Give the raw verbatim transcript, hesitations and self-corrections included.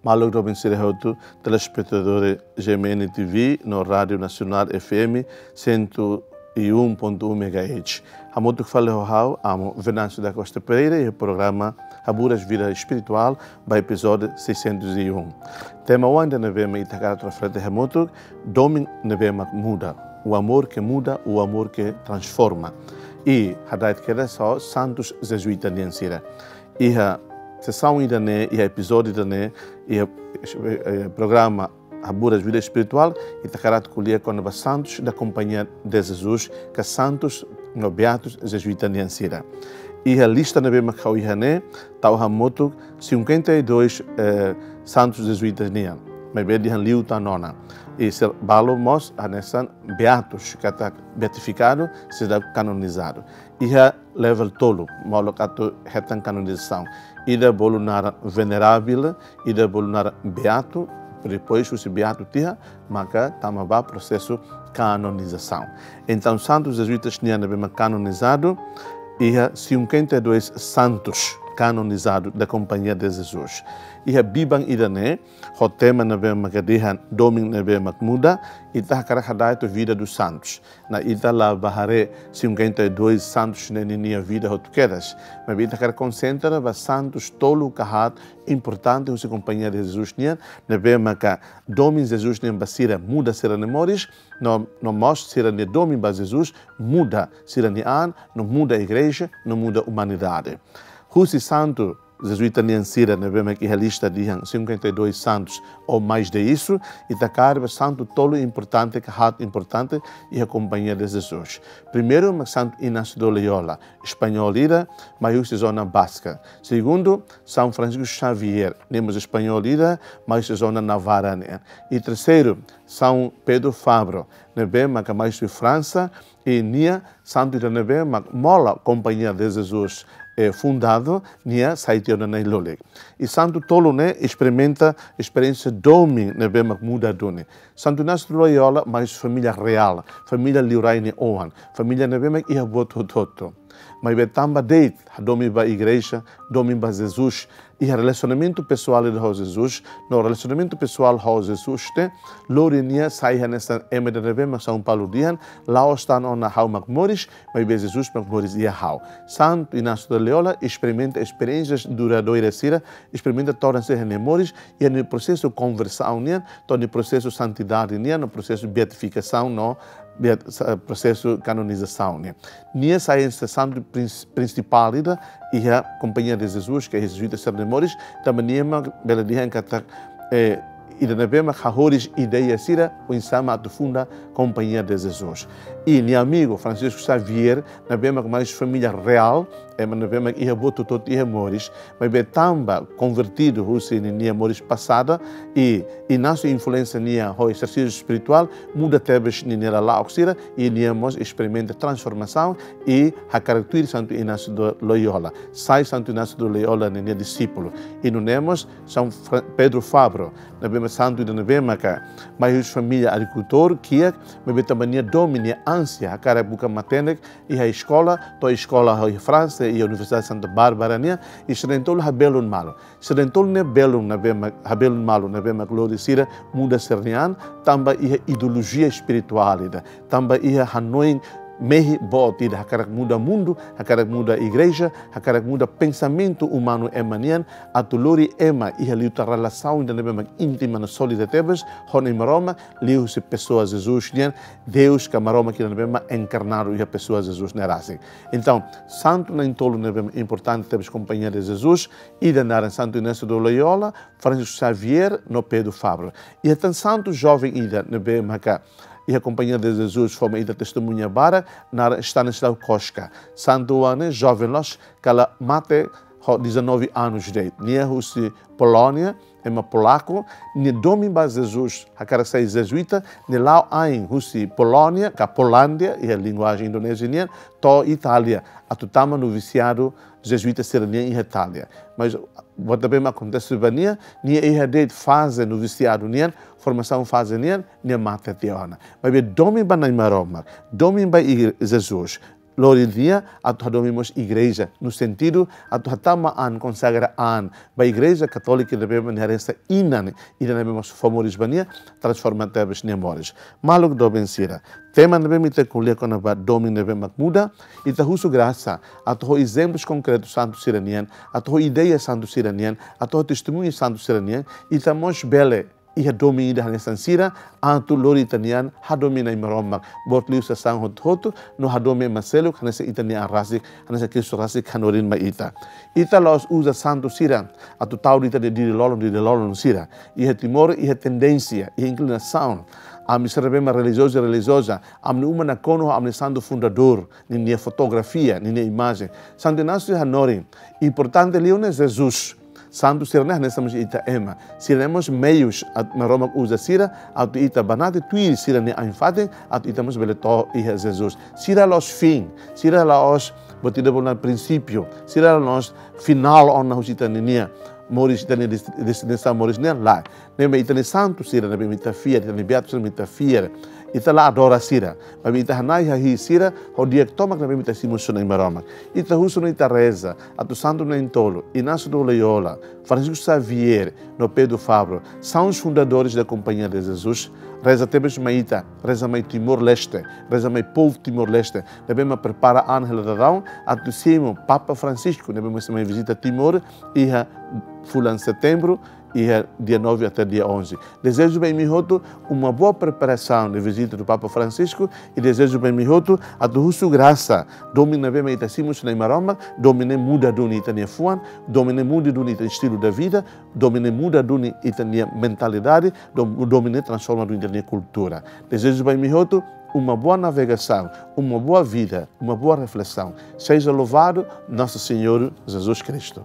Maluk doben sira hotu, telespetadór G M N T V no Rádiu Nasionál F M cento e um ponto um megahertz. Hamutuk fali ho ha'u, Amo Venâncio da Costa Pereira, iha programa Haburas Vida Espirituál, ba epizódiu seiscentos e um. Tema oan ida ne'ebé mak ita hakarak reflete hamutuk, domin ne'ebé mak muda. O amor que muda, o amor que transforma. I hada'et kedas ho santus jezuita nian sira. Iha sesaun ida-ne'e, iha epizódiu ida-ne'e, iha, eh, programa Haburas Vida Espirituál, ita hakarak ko'alia kona-ba Santos da Companhia de Jesus, ka santus no beatus jezuita nian sira. Iha lista ne'ebé mak ha'u iha ne'e, tau hamutuk cinquenta e dois, eh, santus jezuitas nian. Maibé dehan liu tan ona. I sira balu mós hanesan beatus, katak beatifikadu, seidauk kanonizadu. Iha level tolu, molok atu hetan kanonizasaun. Ida bolu naran venerável, ida bolu naran beatu, depois husi beatu tiha, maka tama ba prosesu kanonizasaun. Entaun, santus jezuitas nian ne'ebé mak kanonizadu, iha cinquenta e dois santus kanonizadu da Companhia de Jesus. Iha biban ida-ne'e, ho tema ne'ebé mak dehan domin ne'ebé mak muda, ita hakarak hada'et ho vida dos santos. No ita la bá haree cinquenta e dois santus ne'e ninia vida hotu kedas. Maibé ita hakarak konsentra ba santus tolu ka haat importante husi Companhia de Jesus nian, ne'ebé maka domin Jesus nian ba sira muda sira-nia moris, no, no mós sira-nia domin ba Jesus muda sira-nia an, no muda igreja, no muda umanidade. Husi santu jezuita nian sira ne'ebé mak iha lista dehan cinquenta e dois santos ou mais de isso, ita kaer ba santu tolu importante, ka haat importante iha Companhia de Jesus. Primeiru, mak Santu Inácio de Loyola, espanhol ida, mai husi zona Baska. Segundu, São Francisco Xavier, ne'e mós espanhol ida, mai husi zona Navarra nian. I terseiru, São Pedro Fabro, ne'ebé maka mai husi Fransa, i nia santu ida ne'ebé mak mola Companhia de Jesus, eh, fundadu, nia sai tiha ona na'in-lulik. I santu tolu ne'e esperimenta esperiénsia domin ne'ebé mak muda duni. Santu Inácio de Loyola mai husi família reál, família liurai nia oan, família ne'ebé mak iha buat hotu-hotu. Maibé tanba de'it hadomi ba igreja, domin ba Jesus, iha relasionamentu pesoál ida ho Jesus, no relasionamentu pesoál ho Jesus ne'e lori nia sai hanesan ema ida ne'ebé mak São Paulo dehan, la'ós tan ona ha'u mak moris, maibé Jesus mak moris iha ha'u. Santu Inácio de Loyola esperimenta esperiénsias duradouras sira, esperimenta todan sira-nia moris, iha nia prosesu konversaun nian, to'o nia prosesu santidade nian, no prosesu beatifikasaun, no beat-, sa-, prosesu kanonizasaun nian. Nia sai hanesan santu prins-, prinsipál ida iha Companhia de Jesus, ka jezuita sira-nia moris, tanba nia mak bele dehan katak, eh, ida ne'ebé mak hahoris ideia sira, oinsá mak atu funda Companhia de Jesus. I nia amigu Francisco Xavier, ne'ebé mak mai husi família reál, ema ne'ebé mak iha buat hotu-hotu iha moris, maibé tanba konvertidu husi ninia moris pasada, i, i Inácio influénsia nia ho ezersísiu espirituál, muda tebes ninia lala'ok sira, i nia mós esperimenta transformasaun, i hakarak tuir Santu Inácio de Loyola. Sai Santu Inácio de Loyola ninia disípulu. I nune'e mós São Fra-, Pedro Fabro, ne'ebé mak santu ida ne'ebé maka mai husi família agrikultór, kiak, maibé tanba nia domin, nia ánsia, hakarak buka matenek, iha eskola, to'o eskola iha Fransa, iha Universidade Santa Bárbara nian, i sira na'in-tolu habelun malu. Sira na'in-tolu ne'e belun ne'ebé mak, habelun malu ne'ebé mak lori sira muda sira-nia an, tanba iha ideolojia espirituál ida, tanba iha hanoin mehi boot ida, hakarak muda mundu, hakarak muda igreja, hakarak muda pensamentu umanu ema nian, atu lori ema iha liután relasaun ida ne'ebé mak íntima no sólida tebes ho Na'i Maromak, liuhusi pesoa Jesus nian, Deus ka Maromak ida ne'ebé mak enkarnadu iha pesoa Jesus ne'e rasik. Entaun, santu na'in-tolu ne'ebé mak importante tebes Companhia de Jesus, ida naran Santu Inácio de Loyola, Francisco Xavier, no Pedro Fabro. Iha tan santu joven ida ne'ebé maka iha Companhia de Jesus fó mai ita testemuña barak, naran Stanislaw Koska. Santu oan ne'e joven loos, kala mate ho dezanove anos de idade. Nia husi Polónia, ema polaku, nia domin ba Jesus, hakarak sai jezuita, nia la'o ain husi Polónia, ka Polándia, iha linguajen Indonézia nian, to'o Itália, atu tama novisiadu jezuita sira-nian iha Itália. Mas buat ne'ebé mak akontese ba nia, nia iha de'it faze novisiadu nian, formasaun faze nian, nia mate tiha ona. Maibé domin ba Na'i Maromak, domin ba Jesus, lori nia atu hadomi mós igreja, no sentidu atu hatama an, konsagra an ba Igreja Katólika ne'ebé mak nia hanesan inan, inan ne'ebé mós fó moris ba nia, transforma tebes nia moris. Maluk doben sira, tema ne'ebé mak ita ko'alia kona-ba domin ne'ebé mak muda, ita husu grasa atu ho ezemplu konkretu santu sira-nian, atu ho ideia santu sira-nian, atu ho testemuñu santu sira-nian, ita mós bele iha domin ida hanesan sira, atu lori ita-nia an hadomi Nai Maromak, boot liu sasán hotu-hotu, no hadomi ema seluk hanesan ita-nia an rasik, hanesan Kristu rasik hanorin mai ita. Ita la'ós uza santu sira atu tau de'it ita-nia diri-lolon, diri-lolon sira. Iha Timor iha tendénsia, iha inklinasaun, ami sira ne'ebé mak relijiozu, relijioza, ami-nia uma nakonu ami-nia santu fundadór ninia fotografia, ninia imajen. Santu Inácio hanorin, importante liu ne'e Jesus. Santu sira-ne'e hanesan mós ita ema. Sira-ne'e mós meius atu Maromak uza sira atu ita banati tuir sira-nia ain-fatin, atu ita mós bele to'o iha Jesus. Sira la'ós fin, sira la'ós, buat ida bolu prinsípiu, sira la'ós finál ona husi ita-nia moris, ita-nia dest-, destinasaun moris nian, lae. Ne'ebé ita-nia santu sira ne'ebé ita fiar, ita-nia beatu sira ne'ebé ita fiar, ita la adora sira, maibé ita hana'i hahi'i sira ho di'ak tomak ne'ebé ita simu husi Nai Maromak. Ita husu no ita reza atu Santu Na'in-Tolu, Inácio de Loyola, Francisco Xavier, no Pedro Fabro, são os fundadores da Companhia de Jesus. Reza tebes mai ita, reza mai Timor-Leste, reza mai povu Timor-Leste ne'ebé mak prepara an hela daudaun atu simu Papa Francisco ne'ebé mak sei mai vizita Timor iha fulan Setembru, iha dia nove até dia onze. Dezeja ba imi hotu uma boa preparação de visita do Papa Francisco i dezeja ba imi hotu atu husu grasa, domin ne'ebé mak ita simu husi Nai Maromak, domin ne'e muda duni ita-nia fuan, domin ne'e muda duni ita-nia estilo de vida, domin ne'e muda duni ita-nia mentalidade, dom-, domin ne'e transforma duni ita-nia kultura. Dezeja ba imi hotu uma boa navegação, uma boa vida, uma boa reflexão. Seja louvado Nosso Senhor Jesus Cristo.